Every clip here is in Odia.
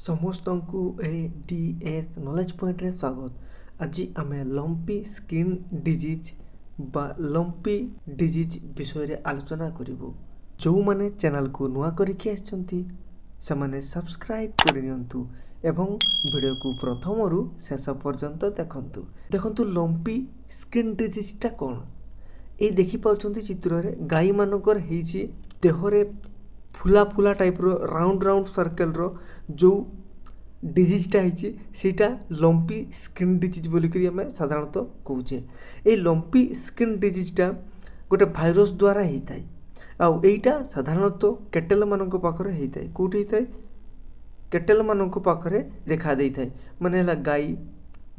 ସମସ୍ତଙ୍କୁ ଏ ଡି ଏସ୍ ନଲେଜ୍ ପଏଣ୍ଟରେ ସ୍ୱାଗତ। ଆଜି ଆମେ ଲମ୍ପି ସ୍କିନ୍ ଡିଜିଜ୍ ବା ଲମ୍ପି ଡିଜିଜ୍ ବିଷୟରେ ଆଲୋଚନା କରିବୁ। ଯେଉଁମାନେ ଚ୍ୟାନେଲକୁ ନୂଆ କରିକି ଆସିଛନ୍ତି, ସେମାନେ ସବସ୍କ୍ରାଇବ୍ କରିନିଅନ୍ତୁ ଏବଂ ଭିଡ଼ିଓକୁ ପ୍ରଥମରୁ ଶେଷ ପର୍ଯ୍ୟନ୍ତ ଦେଖନ୍ତୁ। ଦେଖନ୍ତୁ, ଲମ୍ପି ସ୍କିନ୍ ଡିଜିଜ୍ଟା କ'ଣ? ଏଇ ଦେଖିପାରୁଛନ୍ତି ଚିତ୍ରରେ ଗାଈମାନଙ୍କର ହେଇଛି, ଦେହରେ ଫୁଲା ଫୁଲା ଟାଇପ୍ର, ରାଉଣ୍ଡ ରାଉଣ୍ଡ ସର୍କଲ୍ର ଯେଉଁ ଡିଜିଜ୍ଟା ହେଇଛି, ସେଇଟା ଲମ୍ପି ସ୍କିନ୍ ଡିଜିଜ୍ ବୋଲିକରି ଆମେ ସାଧାରଣତଃ କହୁଛେ। ଏଇ ଲମ୍ପି ସ୍କିନ୍ ଡିଜିଜ୍ଟା ଗୋଟେ ଭାଇରସ୍ ଦ୍ୱାରା ହେଇଥାଏ ଆଉ ଏଇଟା ସାଧାରଣତଃ କେଟେଲମାନଙ୍କ ପାଖରେ ହେଇଥାଏ। କେଉଁଠି ହେଇଥାଏ? କେଟେଲମାନଙ୍କ ପାଖରେ ଦେଖା ଦେଇଥାଏ, ମାନେ ହେଲା ଗାଈ,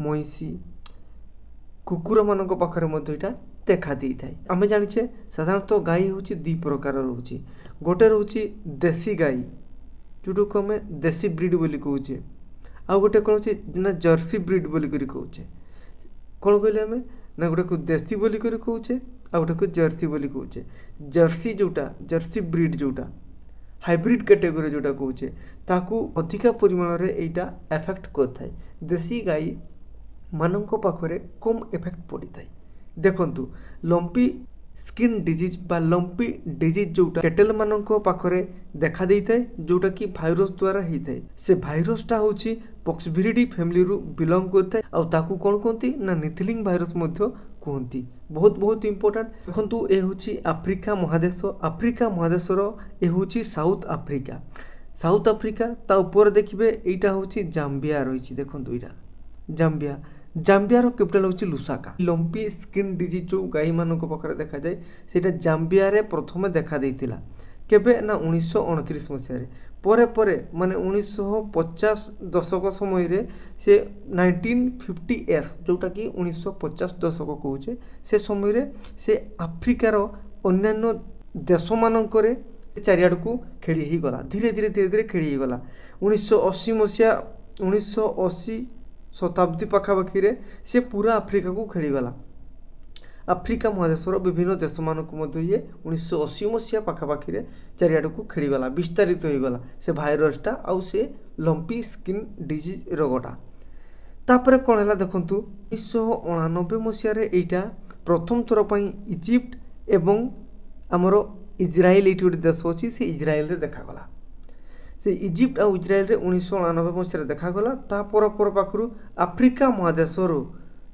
ମଇଁଷି, କୁକୁରମାନଙ୍କ ପାଖରେ ମଧ୍ୟ ଏଇଟା ଦେଖା ଦେଇଥାଏ। ଆମେ ଜାଣିଛେ, ସାଧାରଣତଃ ଗାଈ ହେଉଛି ଦୁଇ ପ୍ରକାର ରହୁଛି। ଗୋଟେ ରହୁଛି ଦେଶୀ ଗାଈ, ଯେଉଁଟାକୁ ଆମେ ଦେଶୀ ବ୍ରିଡ଼ ବୋଲି କହୁଛେ। ଆଉ ଗୋଟେ କ'ଣ ଅଛି ନା ଜର୍ସି ବ୍ରିଡ଼ ବୋଲିକରି କହୁଛେ। କ'ଣ କହିଲେ ଆମେ ନା ଗୋଟେକୁ ଦେଶୀ ବୋଲିକରି କହୁଛେ ଆଉ ଗୋଟେକୁ ଜର୍ସି ବୋଲି କହୁଛେ। ଜର୍ସି ଯେଉଁଟା, ଜର୍ସି ବ୍ରିଡ଼ ଯେଉଁଟା, ହାଇବ୍ରିଡ଼ କ୍ୟାଟେଗୋରୀ ଯେଉଁଟା କହୁଛେ, ତାକୁ ଅଧିକା ପରିମାଣରେ ଏଇଟା ଏଫେକ୍ଟ କରିଥାଏ। ଦେଶୀ ଗାଈ ମାନଙ୍କ ପାଖରେ କମ୍ ଏଫେକ୍ଟ ପଡ଼ିଥାଏ। ଦେଖନ୍ତୁ, ଲମ୍ପି ସ୍କିନ୍ ଡିଜିଜ୍ ବା ଲମ୍ପି ଡିଜିଜ୍ ଯେଉଁଟା କେଟେଲମାନଙ୍କ ପାଖରେ ଦେଖା ଦେଇଥାଏ, ଯେଉଁଟାକି ଭାଇରସ୍ ଦ୍ୱାରା ହେଇଥାଏ, ସେ ଭାଇରସଟା ହେଉଛି ପକ୍ସଭିରିଡି ଫ୍ୟାମିଲିରୁ ବିଲଙ୍ଗ କରିଥାଏ ଆଉ ତାକୁ କ'ଣ କୁହନ୍ତି ନା ନିଥଲିଂ ଭାଇରସ୍ ମଧ୍ୟ କୁହନ୍ତି। ବହୁତ ବହୁତ ଇମ୍ପୋର୍ଟାଣ୍ଟ। ଦେଖନ୍ତୁ, ଏ ହେଉଛି ଆଫ୍ରିକା ମହାଦେଶ। ଆଫ୍ରିକା ମହାଦେଶର ଏ ହେଉଛି ସାଉଥ ଆଫ୍ରିକା। ସାଉଥ ଆଫ୍ରିକା ତା ଉପରେ ଦେଖିବେ, ଏଇଟା ହେଉଛି ଜାମ୍ବିଆ ରହିଛି। ଦେଖନ୍ତୁ, ଏଇଟା ଜାମ୍ବିଆ। ଜାମ୍ବିଆର କ୍ୟାପିଟାଲ ହେଉଛି ଲୁସାକା। ଲମ୍ପି ସ୍କିନ୍ ଡିଜିଜ୍ ଯେଉଁ ଗାଈମାନଙ୍କ ପାଖରେ ଦେଖାଯାଏ, ସେଇଟା ଜାମ୍ବିଆରେ ପ୍ରଥମେ ଦେଖା ଦେଇଥିଲା। କେବେ ନା 1929 ମସିହାରେ। ପରେ ପରେ, ମାନେ 1950 ଦଶକ ସମୟରେ ସେ, 1950s, ଯେଉଁଟାକି 1950 ଦଶକ କହୁଛେ, ସେ ସମୟରେ ସେ ଆଫ୍ରିକାର ଅନ୍ୟାନ୍ୟ ଦେଶମାନଙ୍କରେ ସେ ଚାରିଆଡ଼କୁ ଖେଳି ହେଇଗଲା। ଧୀରେ ଧୀରେ ଧୀରେ ଧୀରେ ଖେଳି ହେଇଗଲା। 1980 ମସିହା, 1980 ଶତାବ୍ଦୀ ପାଖାପାଖିରେ ସେ ପୁରା ଆଫ୍ରିକାକୁ ଖେଳିଗଲା। ଆଫ୍ରିକା ମହାଦେଶର ବିଭିନ୍ନ ଦେଶମାନଙ୍କୁ ମଧ୍ୟ ଇଏ 1980 ମସିହା ପାଖାପାଖିରେ ଚାରିଆଡ଼କୁ ଖେଳିଗଲା, ବିସ୍ତାରିତ ହୋଇଗଲା ସେ ଭାଇରସଟା ଆଉ ସେ ଲମ୍ପି ସ୍କିନ୍ ଡିଜିଜ୍ ରୋଗଟା। ତାପରେ କ'ଣ ହେଲା ଦେଖନ୍ତୁ, 1989 ମସିହାରେ ଏଇଟା ପ୍ରଥମ ଥର ପାଇଁ ଇଜିପ୍ଟ ଏବଂ ଆମର ଇଜ୍ରାଏଲ, ଏଇଠି ଗୋଟେ ଦେଶ ଅଛି, ସେ ଇଜ୍ରାଏଲରେ ଦେଖାଗଲା। ସେ ଇଜିପ୍ଟ ଆଉ ଇଜ୍ରାଏଲରେ 1989 ମସିହାରେ ଦେଖାଗଲା। ତା ପର ପର ପାଖରୁ ଆଫ୍ରିକା ମହାଦେଶରୁ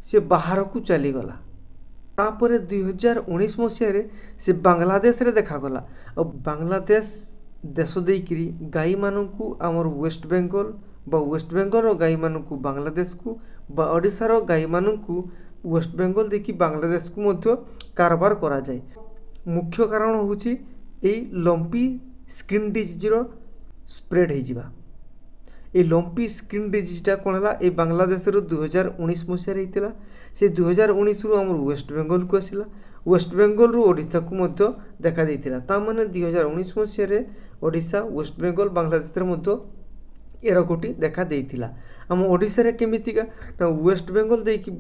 ସେ ବାହାରକୁ ଚାଲିଗଲା। ତାପରେ 2019 ମସିହାରେ ସେ ବାଂଲାଦେଶରେ ଦେଖାଗଲା। ଆଉ ବାଂଲାଦେଶ ଦେଶ ଦେଇକିରି ଗାଈମାନଙ୍କୁ ଆମର ୱେଷ୍ଟବେଙ୍ଗଲ ବା ୱେଷ୍ଟବେଙ୍ଗଲର ଗାଈମାନଙ୍କୁ ବାଂଲାଦେଶକୁ ବା ଓଡ଼ିଶାର ଗାଈମାନଙ୍କୁ ୱେଷ୍ଟବେଙ୍ଗଲ ଦେଇକି ବାଂଲାଦେଶକୁ ମଧ୍ୟ କାରବାର କରାଯାଏ। ମୁଖ୍ୟ କାରଣ ହେଉଛି ଏଇ ଲମ୍ପି ସ୍କିନ୍ ଡିଜିଜ୍ର ସ୍ପ୍ରେଡ୍ ହେଇଯିବା। ଏଇ ଲମ୍ପି ସ୍କିନ୍ ଡିଜିଜ୍ଟା କ'ଣ ହେଲା? ଏଇ ବାଂଲାଦେଶରୁ 2019 ମସିହାରେ ହେଇଥିଲା। ସେ 2019ରୁ ଆମର ୱେଷ୍ଟବେଙ୍ଗଲକୁ ଆସିଲା, ୱେଷ୍ଟବେଙ୍ଗଲରୁ ଓଡ଼ିଶାକୁ ମଧ୍ୟ ଦେଖା ଦେଇଥିଲା। ତା ମାନେ 2019 ମସିହାରେ ଓଡ଼ିଶା, ୱେଷ୍ଟବେଙ୍ଗଲ, ବାଂଲାଦେଶରେ ମଧ୍ୟ ଏ ରୋଗଟି ଦେଖା ଦେଇଥିଲା। ଆମ ଓଡ଼ିଶାରେ କେମିତିକା ନା ୱେଷ୍ଟବେଙ୍ଗଲ ଦେଇକି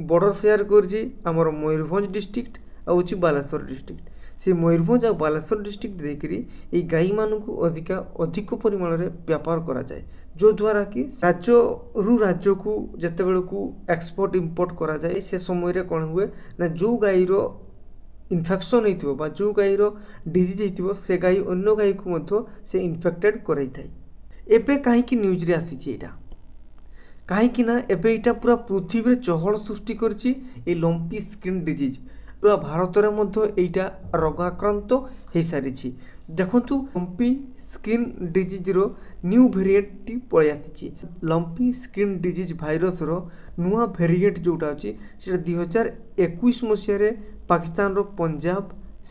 ବର୍ଡ଼ର ସେୟାର କରିଛି ଆମର ମୟୂରଭଞ୍ଜ ଡିଷ୍ଟ୍ରିକ୍ଟ ଆଉ ହେଉଛି ବାଲେଶ୍ୱର ଡିଷ୍ଟ୍ରିକ୍ଟ। ସେ ମୟୂରଭଞ୍ଜ ଆଉ ବାଲେଶ୍ୱର ଡିଷ୍ଟ୍ରିକ୍ଟ ଦେଇକରି ଏଇ ଗାଈମାନଙ୍କୁ ଅଧିକା ଅଧିକ ପରିମାଣରେ ବେପାର କରାଯାଏ, ଯଦ୍ୱାରା କି ରାଜ୍ୟରୁ ରାଜ୍ୟକୁ ଯେତେବେଳକୁ ଏକ୍ସପୋର୍ଟ ଇମ୍ପୋର୍ଟ କରାଯାଏ, ସେ ସମୟରେ କ'ଣ ହୁଏ ନା ଯେଉଁ ଗାଈର ଇନଫେକ୍ସନ୍ ହେଇଥିବ ବା ଯେଉଁ ଗାଈର ଡିଜିଜ୍ ହେଇଥିବ, ସେ ଗାଈ ଅନ୍ୟ ଗାଈକୁ ମଧ୍ୟ ସେ ଇନଫେକ୍ଟେଡ଼ କରାଇଥାଏ। ଏବେ କାହିଁକି ନ୍ୟୁଜ୍ରେ ଆସିଛି ଏଇଟା? କାହିଁକି ନା ଏବେ ଏଇଟା ପୁରା ପୃଥିବୀରେ ଚହଳ ସୃଷ୍ଟି କରିଛି। ଏଇ ଲମ୍ପି ସ୍କିନ୍ ଡିଜିଜ୍ ପୁରା ଭାରତରେ ମଧ୍ୟ ଏଇଟା ରୋଗାକ୍ରାନ୍ତ ହେଇସାରିଛି। ଦେଖନ୍ତୁ, ଲମ୍ପି ସ୍କିନ୍ ଡିଜିଜ୍ର ନ୍ୟୁ ଭେରିଏଣ୍ଟଟି ପଳେଇ ଆସିଛି। ଲମ୍ପି ସ୍କିନ୍ ଡିଜିଜ୍ ଭାଇରସର ନୂଆ ଭେରିଏଣ୍ଟ ଯେଉଁଟା ଅଛି, ସେଇଟା 2021 ମସିହାରେ ପାକିସ୍ତାନର ପଞ୍ଜାବ,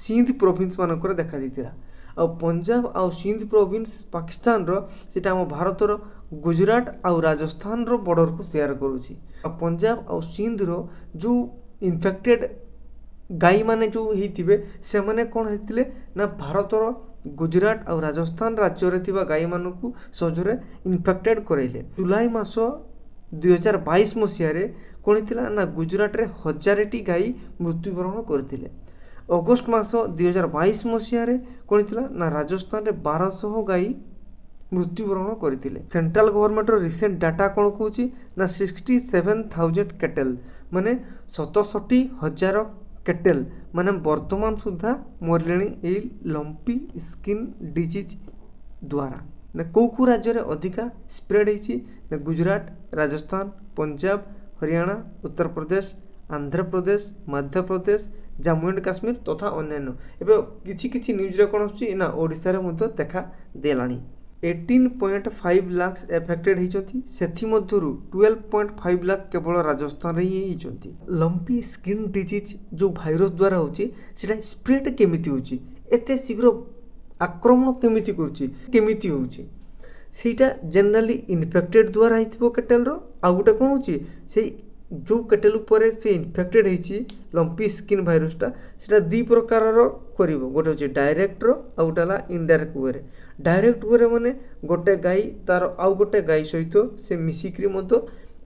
ସିନ୍ଧ ପ୍ରୋଭିନ୍ସ ମାନଙ୍କରେ ଦେଖାଦେଇଥିଲା। ଆଉ ପଞ୍ଜାବ ଆଉ ସିନ୍ଧ ପ୍ରୋଭିନ୍ସ ପାକିସ୍ତାନର, ସେଇଟା ଆମ ଭାରତର ଗୁଜୁରାଟ ଆଉ ରାଜସ୍ଥାନର ବର୍ଡ଼ରକୁ ସେୟାର କରୁଛି। ଆଉ ପଞ୍ଜାବ ଆଉ ସିନ୍ଧର ଯେଉଁ ଇନଫେକ୍ଟେଡ଼ ଗାଈମାନେ ଯେଉଁ ହେଇଥିବେ, ସେମାନେ କ'ଣ ହେଇଥିଲେ ନା ଭାରତର ଗୁଜୁରାଟ ଆଉ ରାଜସ୍ଥାନ ରାଜ୍ୟରେ ଥିବା ଗାଈମାନଙ୍କୁ ସହଜରେ ଇନଫେକ୍ଟେଡ଼ କରାଇଲେ। ଜୁଲାଇ ମାସ 2022 ମସିହାରେ କ'ଣ ହେଇଥିଲା ନା ଗୁଜୁରାଟରେ 1000ଟି ଗାଈ ମୃତ୍ୟୁବରଣ କରିଥିଲେ। ଅଗଷ୍ଟ ମାସ 2022 ମସିହାରେ କ'ଣ ହେଇଥିଲା ନା ରାଜସ୍ଥାନରେ 1200 ଗାଈ ମୃତ୍ୟୁବରଣ କରିଥିଲେ। ସେଣ୍ଟ୍ରାଲ ଗଭର୍ଣ୍ଣମେଣ୍ଟର ରିସେଣ୍ଟ ଡାଟା କ'ଣ କହୁଛି ନା 67,000 କେଟେଲ୍, ମାନେ 67,000 କେଟେଲ୍ ମାନେ ବର୍ତ୍ତମାନ ସୁଦ୍ଧା ମରିଲେଣି ଏଇ ଲମ୍ପି ସ୍କିନ୍ ଡିଜିଜ୍ ଦ୍ୱାରା। ନା କେଉଁ କେଉଁ ରାଜ୍ୟରେ ଅଧିକା ସ୍ପ୍ରେଡ୍ ହେଇଛି ନା ଗୁଜୁରାଟ, ରାଜସ୍ଥାନ, ପଞ୍ଜାବ, ହରିୟାଣା, ଉତ୍ତରପ୍ରଦେଶ, ଆନ୍ଧ୍ରପ୍ରଦେଶ, ମଧ୍ୟପ୍ରଦେଶ, ଜାମ୍ମୁ ଆଣ୍ଡ କାଶ୍ମୀର ତଥା ଅନ୍ୟାନ୍ୟ। ଏବେ କିଛି କିଛି ନ୍ୟୁଜ୍ରେ କ'ଣ ଆସୁଛି ନା ଓଡ଼ିଶାରେ ମଧ୍ୟ ଦେଖା ଦେଲାଣି। 18.5 ଲାକ୍ସ ଏଫେକ୍ଟେଡ୍ ହେଇଛନ୍ତି, ସେଥିମଧ୍ୟରୁ 12.5 ଲାଖ କେବଳ ରାଜସ୍ଥାନରେ ହିଁ ହେଇଛନ୍ତି। ଲମ୍ପି ସ୍କିନ୍ ଡିଜିଜ୍ ଯେଉଁ ଭାଇରସ୍ ଦ୍ୱାରା ହେଉଛି, ସେଇଟା ସ୍ପ୍ରେଡ୍ କେମିତି ହେଉଛି, ଏତେ ଶୀଘ୍ର ଆକ୍ରମଣ କେମିତି କରୁଛି, କେମିତି ହେଉଛି? ସେଇଟା ଜେନେରାଲି ଇନଫେକ୍ଟେଡ୍ ଦ୍ୱାରା ହେଇଥିବ କେଟେଲ୍ର। ଆଉ ଗୋଟେ କ'ଣ ହେଉଛି, ସେଇ ଯେଉଁ କେଟେଲ୍ ଉପରେ ସେ ଇନଫେକ୍ଟେଡ୍ ହେଇଛି ଲମ୍ପି ସ୍କିନ୍ ଭାଇରସଟା, ସେଇଟା ଦୁଇ ପ୍ରକାରର କରିବ। ଗୋଟେ ହେଉଛି ଡାଇରେକ୍ଟର, ଆଉ ଗୋଟେ ହେଲା ଇନଡାଇରେକ୍ଟ ୱେରେ। ଡାଇରେକ୍ଟ ୱେରେ ମାନେ ଗୋଟେ ଗାଈ ତାର ଆଉ ଗୋଟେ ଗାଈ ସହିତ ସେ ମିଶିକିରି ମଧ୍ୟ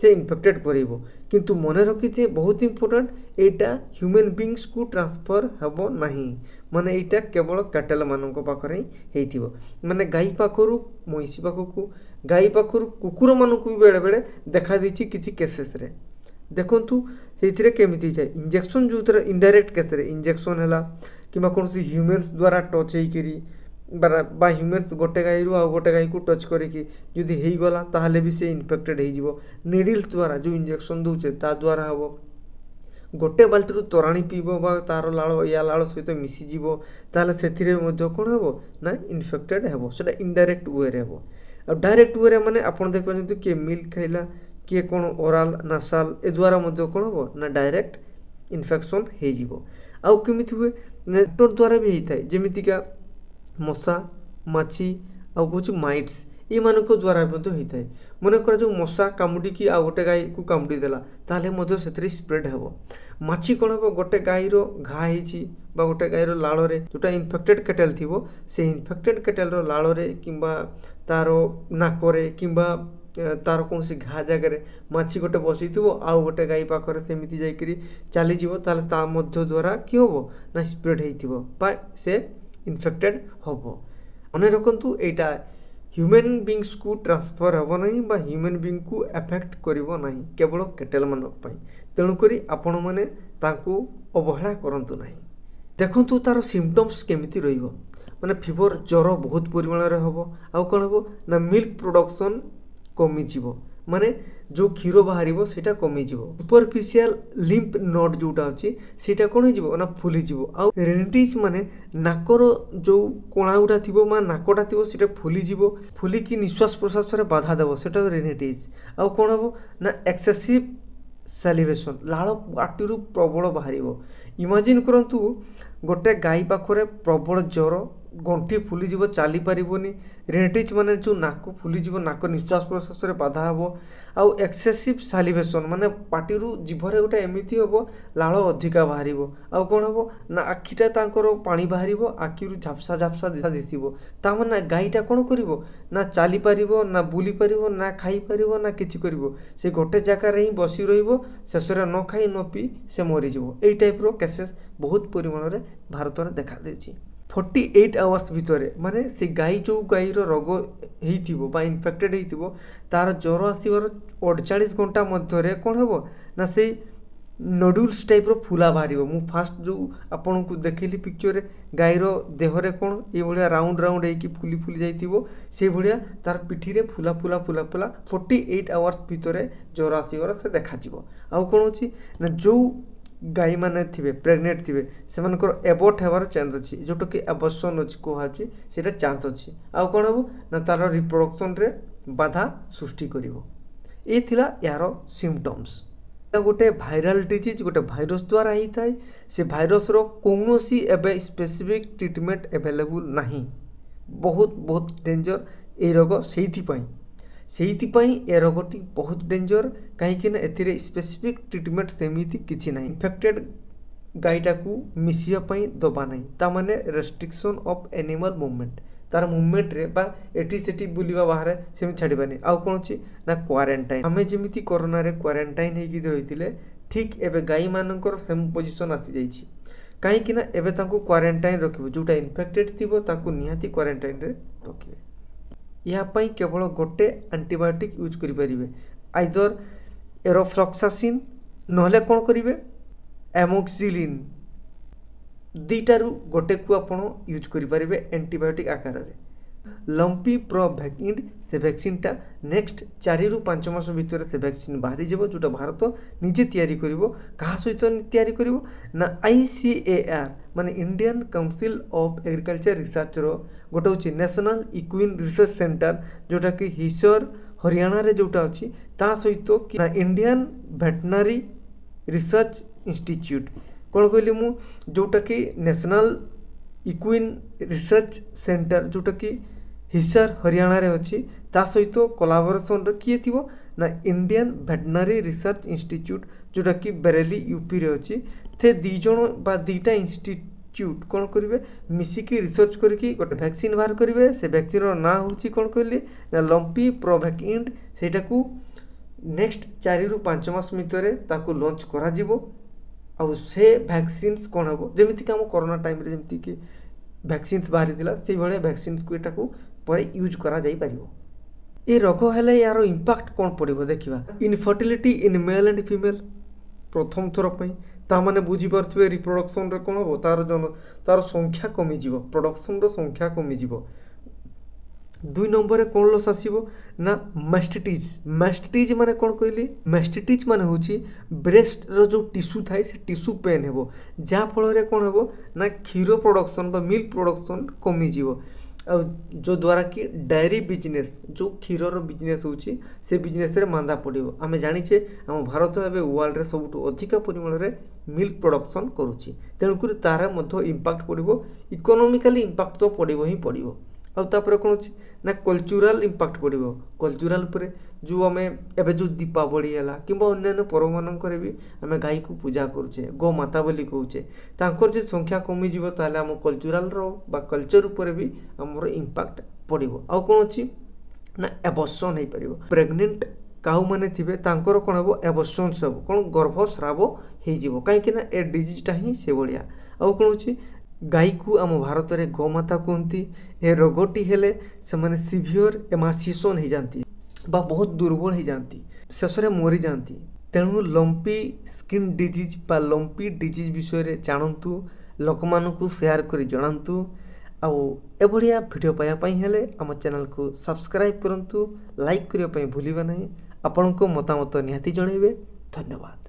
ସେ ଇନଫେକ୍ଟେଡ୍ କରାଇବ। କିନ୍ତୁ ମନେ ରଖିଥିବେ, ବହୁତ ଇମ୍ପୋର୍ଟାଣ୍ଟ, ଏଇଟା ହ୍ୟୁମାନ୍ ବିଙ୍ଗସକୁ ଟ୍ରାନ୍ସଫର୍ ହେବ ନାହିଁ, ମାନେ ଏଇଟା କେବଳ କ୍ୟାଟେଲମାନଙ୍କ ପାଖରେ ହିଁ ହେଇଥିବ। ମାନେ ଗାଈ ପାଖରୁ ମଇଁଷି ପାଖକୁ, ଗାଈ ପାଖରୁ କୁକୁରମାନଙ୍କୁ ବି ବେଳେବେଳେ ଦେଖାଦେଇଛି କିଛି କେସେସରେ। ଦେଖନ୍ତୁ ସେଇଥିରେ କେମିତି ହେଇଯାଏ। ଇଞ୍ଜେକ୍ସନ୍ ଯେଉଁଥିରେ ଇନଡାଇରେକ୍ଟ କେସ୍ରେ ଇଞ୍ଜେକ୍ସନ୍ ହେଲା କିମ୍ବା କୌଣସି ହ୍ୟୁମାନ୍ସ ଦ୍ୱାରା ଟଚ୍ ହେଇକିରି ବା ହ୍ୟୁମାନ୍ସ ଗୋଟେ ଗାଈରୁ ଆଉ ଗୋଟେ ଗାଈକୁ ଟଚ୍ କରିକି ଯଦି ହେଇଗଲା, ତାହେଲେ ବି ସେ ଇନଫେକ୍ଟେଡ୍ ହେଇଯିବ। ନିଡ଼ିଲ୍ସ ଦ୍ୱାରା ଯେଉଁ ଇଞ୍ଜେକ୍ସନ୍ ଦେଉଛେ ତା ଦ୍ୱାରା ହେବ। ଗୋଟେ ବାଲ୍ଟିରୁ ତୋରାଣି ପିଇବ ବା ତାର ଲାଳ ୟା ଲାଳ ସହିତ ମିଶିଯିବ, ତାହେଲେ ସେଥିରେ ମଧ୍ୟ କ'ଣ ହେବ ନା ଇନଫେକ୍ଟେଡ୍ ହେବ। ସେଇଟା ଇନଡାଇରେକ୍ଟ ୱେରେ ହେବ। ଆଉ ଡାଇରେକ୍ଟ ୱେରେ ମାନେ ଆପଣ ଦେଖିପାରୁଛନ୍ତି, କିଏ ମିଲ୍କ ଖାଇଲା, କିଏ କ'ଣ ଓରାଲ, ନାସାଲ, ଏ ଦ୍ୱାରା ମଧ୍ୟ କ'ଣ ହେବ ନା ଡାଇରେକ୍ଟ ଇନଫେକ୍ସନ୍ ହେଇଯିବ। ଆଉ କେମିତି ହୁଏ? ନେଟୱାର୍କ ଦ୍ୱାରା ବି ହେଇଥାଏ, ଯେମିତିକା ମଶା, ମାଛି ଆଉ କହୁଛି ମାଇଟ୍ସ, ଏଇମାନଙ୍କ ଦ୍ୱାରା ମଧ୍ୟ ହେଇଥାଏ। ମନେକର ଯେଉଁ ମଶା କାମୁଡ଼ିକି ଆଉ ଗୋଟେ ଗାଈକୁ କାମୁଡ଼ି ଦେଲା, ତାହେଲେ ମଧ୍ୟ ସେଥିରେ ସ୍ପ୍ରେଡ୍ ହେବ। ମାଛି କ'ଣ ହେବ, ଗୋଟେ ଗାଈର ଘା ହେଇଛି ବା ଗୋଟେ ଗାଈର ଲାଳରେ ଯେଉଁଟା ଇନଫେକ୍ଟେଡ୍ କେଟେଲ୍ ଥିବ, ସେ ଇନଫେକ୍ଟେଡ୍ କେଟେଲ୍ର ଲାଳରେ କିମ୍ବା ତାର ନାକରେ କିମ୍ବା ତାର କୌଣସି ଘା ଜାଗାରେ ମାଛି ଗୋଟେ ବସିଥିବ, ଆଉ ଗୋଟେ ଗାଈ ପାଖରେ ସେମିତି ଯାଇକରି ଚାଲିଯିବ, ତାହେଲେ ତା ମଧ୍ୟ ଦ୍ୱାରା କି ହେବ ନା ସ୍ପ୍ରେଡ୍ ହେଇଥିବ ବା ସେ ଇନଫେକ୍ଟେଡ୍ ହେବ। ମନେ ରଖନ୍ତୁ, ଏଇଟା ହ୍ୟୁମାନ୍ ବିଙ୍ଗସକୁ ଟ୍ରାନ୍ସଫର୍ ହେବ ନାହିଁ ବା ହ୍ୟୁମାନ୍ ବିଙ୍ଗକୁ ଏଫେକ୍ଟ କରିବ ନାହିଁ, କେବଳ କେଟେଲମାନଙ୍କ ପାଇଁ। ତେଣୁକରି ଆପଣମାନେ ତାଙ୍କୁ ଅବହେଳା କରନ୍ତୁ ନାହିଁ। ଦେଖନ୍ତୁ ତାର ସିମ୍ପଟମ୍ସ କେମିତି ରହିବ, ମାନେ ଫିଭର, ଜ୍ୱର ବହୁତ ପରିମାଣରେ ହେବ। ଆଉ କ'ଣ ହେବ ନା ମିଲ୍କ ପ୍ରଡ଼କ୍ସନ୍ କମିଯିବ, ମାନେ ଯେଉଁ କ୍ଷୀର ବାହାରିବ ସେଇଟା କମିଯିବ। ସୁପରଫିସିଆଲ ଲିମ୍ଫ ନୋଡ୍ ଯେଉଁଟା ଅଛି ସେଇଟା କ'ଣ ହେଇଯିବ ନା ଫୁଲିଯିବ। ଆଉ ରେନିଟିସ୍, ମାନେ ନାକର ଯେଉଁ କଣା ଗୁଡ଼ା ଥିବ ବା ନାକଟା ଥିବ ସେଇଟା ଫୁଲିଯିବ, ଫୁଲିକି ନିଶ୍ୱାସ ପ୍ରଶ୍ୱାସରେ ବାଧା ଦେବ, ସେଇଟା ରେନିଟିସ୍। ଆଉ କ'ଣ ହେବ ନା ଏକ୍ସେସିଭ୍ ସାଲିଭେସନ୍, ଲାଳ ପାଟିରୁ ପ୍ରବଳ ବାହାରିବ। ଇମାଜିନ୍ କରନ୍ତୁ, ଗୋଟେ ଗାଈ ପାଖରେ ପ୍ରବଳ ଜ୍ୱର, ଗଣ୍ଠି ଫୁଲିଯିବ, ଚାଲିପାରିବନି, ରେନିଟିସ୍ ମାନେ ଯେଉଁ ନାକ ଫୁଲିଯିବ, ନାକ ନିଶ୍ୱାସ ପ୍ରଶ୍ୱାସରେ ବାଧା ହେବ, ଆଉ ଏକ୍ସେସିଭ୍ ସାଲିଭେସନ୍ ମାନେ ପାଟିରୁ ଜିଭରେ ଗୋଟେ ଏମିତି ହେବ, ଲାଳ ଅଧିକା ବାହାରିବ। ଆଉ କ'ଣ ହେବ ନା ଆଖିଟା ତାଙ୍କର ପାଣି ବାହାରିବ, ଆଖିରୁ ଝାପ୍ସା ଝାପ୍ସା ଦିଶିବ। ତା ମାନେ ଗାଈଟା କ'ଣ କରିବ ନା ଚାଲିପାରିବ ନା ବୁଲିପାରିବ ନା ଖାଇପାରିବ ନା କିଛି କରିବ, ସେ ଗୋଟେ ଜାଗାରେ ହିଁ ବସି ରହିବ। ଶେଷରେ ନ ଖାଇ ନ ପିଇ ସେ ମରିଯିବ। ଏଇ ଟାଇପ୍ର କେସେସ୍ ବହୁତ ପରିମାଣରେ ଭାରତରେ ଦେଖାଦେଉଛି। 48 ଆୱାର୍ସ ଭିତରେ, ମାନେ ସେ ଗାଈ ଯେଉଁ ଗାଈର ରୋଗ ହେଇଥିବ ବା ଇନଫେକ୍ଟେଡ଼୍ ହେଇଥିବ, ତାର ଜ୍ୱର ଆସିବାର 48 ଘଣ୍ଟା ମଧ୍ୟରେ କ'ଣ ହେବ ନା ସେଇ ନଡୁଲ୍ସ ଟାଇପ୍ର ଫୁଲା ବାହାରିବ। ମୁଁ ଫାଷ୍ଟ ଯେଉଁ ଆପଣଙ୍କୁ ଦେଖେଇଲି ପିକ୍ଚରରେ, ଗାଈର ଦେହରେ କ'ଣ ଏଇଭଳିଆ ରାଉଣ୍ଡ ରାଉଣ୍ଡ ହେଇକି ଫୁଲି ଫୁଲି ଯାଇଥିବ, ସେଇଭଳିଆ ତାର ପିଠିରେ ଫୁଲା ଫୁଲା ଫୁଲା ଫୁଲା 48 ଆୱାର୍ସ ଭିତରେ ଜ୍ୱର ଆସିବାର ସେ ଦେଖାଯିବ। ଆଉ କ'ଣ ଅଛି ନା ଯେଉଁ ଗାଈମାନେ ଥିବେ, ପ୍ରେଗନେଣ୍ଟ ଥିବେ, ସେମାନଙ୍କର ଏବର୍ଟ ହେବାର ଚାନ୍ସ ଅଛି, ଯେଉଁଟାକି ଆବର୍ସନ୍ ଅଛି କୁହାଯାଉଛି, ସେଇଟା ଚାନ୍ସ ଅଛି। ଆଉ କ'ଣ ହେବ ନା ତାର ରିପ୍ରଡକ୍ସନ୍ରେ ବାଧା ସୃଷ୍ଟି କରିବ। ଏ ଥିଲା ଏହାର ସିମ୍ପଟମ୍ସ। ଗୋଟେ ଭାଇରାଲ ଡିଜିଜ୍, ଗୋଟେ ଭାଇରସ୍ ଦ୍ୱାରା ହେଇଥାଏ। ସେ ଭାଇରସ୍ର କୌଣସି ଏବେ ସ୍ପେସିଫିକ୍ ଟ୍ରିଟମେଣ୍ଟ ଆଭେଲେବୁଲ୍ ନାହିଁ। ବହୁତ ବହୁତ ଡେଞ୍ଜର ଏଇ ରୋଗ। ସେଇଥିପାଇଁ ଏ ରୋଗଟି ବହୁତ ଡେଞ୍ଜର, କାହିଁକିନା ଏଥିରେ ସ୍ପେସିଫିକ୍ ଟ୍ରିଟମେଣ୍ଟ ସେମିତି କିଛି ନାହିଁ। ଇନଫେକ୍ଟେଡ଼ ଗାଈଟାକୁ ମିଶିବା ପାଇଁ ଦେବା ନାହିଁ, ତା ମାନେ ରେଷ୍ଟ୍ରିକ୍ସନ୍ ଅଫ୍ ଆନିମାଲ୍ ମୁଭମେଣ୍ଟ, ତାର ମୁଭମେଣ୍ଟରେ ବା ଏଠି ସେଠି ବୁଲିବା ବାହାରେ ସେମିତି ଛାଡ଼ିବାନି। ଆଉ କ'ଣ ଅଛି ନା କ୍ୱାରେଣ୍ଟାଇନ୍। ଆମେ ଯେମିତି କରୋନାରେ କ୍ୱାରେଣ୍ଟାଇନ୍ ହେଇକି ରହିଥିଲେ, ଠିକ୍ ଏବେ ଗାଈମାନଙ୍କର ସେମ୍ ପୋଜିସନ୍ ଆସିଯାଇଛି, କାହିଁକିନା ଏବେ ତାଙ୍କୁ କ୍ୱାରେଣ୍ଟାଇନ୍ ରଖିବ। ଯେଉଁଟା ଇନଫେକ୍ଟେଡ଼ ଥିବ ତାକୁ ନିହାତି କ୍ୱାରେଣ୍ଟାଇନ୍ରେ ରଖିବେ। ଏହା ପାଇଁ କେବଳ ଗୋଟେ ଆଣ୍ଟିବାୟୋଟିକ୍ ୟୁଜ୍ କରିପାରିବେ, ଆଇଦର ଏରୋଫ୍ଲକ୍ସାସିନ୍ ନହେଲେ କ'ଣ କରିବେ, ଆମୋକ୍ସିଲିନ୍। ଦୁଇଟାରୁ ଗୋଟେକୁ ଆପଣ ୟୁଜ୍ କରିପାରିବେ ଆଣ୍ଟିବାୟୋଟିକ୍ ଆକାରରେ। ଲମ୍ପି ପ୍ରୋଭ୍ୟାକିଣ୍ଡ ସେ ଭ୍ୟାକ୍ସିନ୍ଟା ନେକ୍ସଟ 4ରୁ 5 ମାସ ଭିତରେ ସେ ଭ୍ୟାକ୍ସିନ୍ ବାହାରିଯିବ, ଯେଉଁଟା ଭାରତ ନିଜେ ତିଆରି କରିବ। କାହା ସହିତ ତିଆରି କରିବ ନା ଆଇସିଏଆର୍ ମାନେ ଇଣ୍ଡିଆନ୍ କାଉନସିଲ୍ ଅଫ୍ ଏଗ୍ରିକଲଚର ରିସର୍ଚ୍ଚର ଗୋଟେ ହେଉଛି ନ୍ୟାସନାଲ୍ ଇକ୍ୱିନ୍ ରିସର୍ଚ୍ଚ ସେଣ୍ଟର, ଯେଉଁଟାକି ହିସର ହରିୟାଣାରେ ଯେଉଁଟା ଅଛି, ତା ସହିତ କି ନା ଇଣ୍ଡିଆନ୍ ଭେଟନାରୀ ରିସର୍ଚ୍ଚ ଇନଷ୍ଟିଚ୍ୟୁଟ୍। କ'ଣ କହିଲି ମୁଁ? ଯେଉଁଟାକି ନ୍ୟାସନାଲ୍ ଇକ୍ୱିନ୍ ରିସର୍ଚ୍ଚ ସେଣ୍ଟର, ଯେଉଁଟାକି ହିସାର ହରିୟାଣାରେ ଅଛି, ତା ସହିତ କୋଲାବୋରେସନ୍ରେ କିଏ ଥିବ ନା ଇଣ୍ଡିଆନ୍ ଭେଟନାରୀ ରିସର୍ଚ୍ଚ ଇନଷ୍ଟିଚ୍ୟୁଟ୍, ଯେଉଁଟାକି ବେରେଲି ୟୁପିରେ ଅଛି। ସେ ଦୁଇ ଜଣ ବା ଦୁଇଟା ଇନଷ୍ଟିଚ୍ୟୁଟ୍ କ'ଣ କରିବେ? ମିଶିକି ରିସର୍ଚ୍ଚ କରିକି ଗୋଟେ ଭ୍ୟାକ୍ସିନ୍ ବାହାର କରିବେ। ସେ ଭ୍ୟାକ୍ସିନ୍ର ନାଁ ହେଉଛି କ'ଣ କହିଲି ନା ଲମ୍ପି ପ୍ରୋଭ୍ୟାକିଣ୍ଡ। ସେଇଟାକୁ ନେକ୍ସଟ 4ରୁ 5 ମାସ ଭିତରେ ତାକୁ ଲଞ୍ଚ କରାଯିବ। ଆଉ ସେ ଭ୍ୟାକ୍ସିନ୍ସ କ'ଣ ହେବ? ଯେମିତିକି ଆମ କରୋନା ଟାଇମ୍ରେ ଯେମିତିକି ଭ୍ୟାକ୍ସିନ୍ସ ବାହାରିଥିଲା, ସେଇଭଳିଆ ଭ୍ୟାକ୍ସିନ୍ସକୁ ଏଟାକୁ ପରେ ୟୁଜ୍ କରାଯାଇପାରିବ। ଏ ରୋଗ ହେଲେ ଏହାର ଇମ୍ପାକ୍ଟ କ'ଣ ପଡ଼ିବ ଦେଖିବା। Infertility in male and female ପ୍ରଥମ ଥର ପାଇଁ। ତାମାନେ ବୁଝିପାରୁଥିବେ ରିପ୍ରଡକ୍ସନ୍ରେ କ'ଣ ହେବ, ତାର ତାର ସଂଖ୍ୟା କମିଯିବ, ପ୍ରଡକ୍ସନ୍ର ସଂଖ୍ୟା କମିଯିବ। ଦୁଇ ନମ୍ବରରେ କ'ଣ ଲସ୍ ଆସିବ ନା ମାଷ୍ଟିଟିଜ୍। ମାଷ୍ଟିଟିଜ୍ ମାନେ କ'ଣ କହିଲି? ମାଷ୍ଟିଟିଜ୍ ମାନେ ହେଉଛି ବ୍ରେଷ୍ଟର ଯେଉଁ ଟିସ୍ୟୁ ଥାଏ, ସେ ଟିସ୍ୟୁ ପେନ୍ ହେବ, ଯାହାଫଳରେ କ'ଣ ହେବ ନା କ୍ଷୀର ପ୍ରଡକ୍ସନ୍ ବା ମିଲ୍କ ପ୍ରଡକ୍ସନ୍ କମିଯିବ। ଆଉ ଯେଉଁଦ୍ୱାରା କି ଡାଏରୀ ବିଜନେସ୍, ଯେଉଁ କ୍ଷୀରର ବିଜନେସ୍ ହେଉଛି, ସେ ବିଜନେସ୍ରେ ମାନ୍ଦା ପଡ଼ିବ। ଆମେ ଜାଣିଛେ ଆମ ଭାରତ ଏବେ ୱାର୍ଲଡ଼ରେ ସବୁଠୁ ଅଧିକା ପରିମାଣରେ ମିଲ୍କ ପ୍ରଡକ୍ସନ୍ କରୁଛି। ତେଣୁକରି ତା'ର ମଧ୍ୟ ଇମ୍ପାକ୍ଟ ପଡ଼ିବ। ଇକୋନୋମିକାଲି ଇମ୍ପାକ୍ଟ ତ ପଡ଼ିବ ହିଁ ପଡ଼ିବ। ଆଉ ତାପରେ କ'ଣ ଅଛି ନା କଲଚରାଲ୍ ଇମ୍ପାକ୍ଟ ପଡ଼ିବ। କଲଚରାଲ୍ ଉପରେ ଯେଉଁ ଆମେ ଏବେ ଯେଉଁ ଦୀପାବଳି ହେଲା କିମ୍ବା ଅନ୍ୟାନ୍ୟ ପର୍ବମାନଙ୍କରେ ବି ଆମେ ଗାଈକୁ ପୂଜା କରୁଛେ, ଗୋମାତା ବୋଲି କହୁଛେ, ତାଙ୍କର ଯଦି ସଂଖ୍ୟା କମିଯିବ ତାହେଲେ ଆମ କଲଚରାଲ୍ର ବା କଲଚର୍ ଉପରେ ବି ଆମର ଇମ୍ପାକ୍ଟ ପଡ଼ିବ। ଆଉ କ'ଣ ଅଛି ନା ଏବର୍ସନ୍ ହେଇପାରିବ। ପ୍ରେଗନେଣ୍ଟ କାଉମାନେ ଥିବେ, ତାଙ୍କର କ'ଣ ହେବ? ଏବର୍ସନ୍ସ ହେବ। କ'ଣ? ଗର୍ଭସ୍ରାବ ହେଇଯିବ, କାହିଁକି ନା ଏ ଡିଜିଜ୍ଟା ହିଁ ସେଭଳିଆ। ଆଉ କ'ଣ ଅଛି? ଗାଈକୁ ଆମ ଭାରତରେ ଗୋମାତା କୁହନ୍ତି। ଏ ରୋଗଟି ହେଲେ ସେମାନେ ସିଭିଅର୍ ଏମାସିଏସନ୍ ହେଇଯାଆନ୍ତି ବା ବହୁତ ଦୁର୍ବଳ ହେଇଯାଆନ୍ତି, ଶେଷରେ ମରିଯାଆନ୍ତି। ତେଣୁ ଲମ୍ପି ସ୍କିନ୍ ଡିଜିଜ୍ ବା ଲମ୍ପି ଡିଜିଜ୍ ବିଷୟରେ ଜାଣନ୍ତୁ, ଲୋକମାନଙ୍କୁ ସେୟାର କରି ଜଣାନ୍ତୁ। ଆଉ ଏଭଳିଆ ଭିଡ଼ିଓ ପାଇବା ପାଇଁ ହେଲେ ଆମ ଚ୍ୟାନେଲକୁ ସବସ୍କ୍ରାଇବ୍ କରନ୍ତୁ, ଲାଇକ୍ କରିବା ପାଇଁ ଭୁଲିବେ ନାହିଁ। ଆପଣଙ୍କ ମତାମତ ନିହାତି ଜଣାଇବେ। ଧନ୍ୟବାଦ।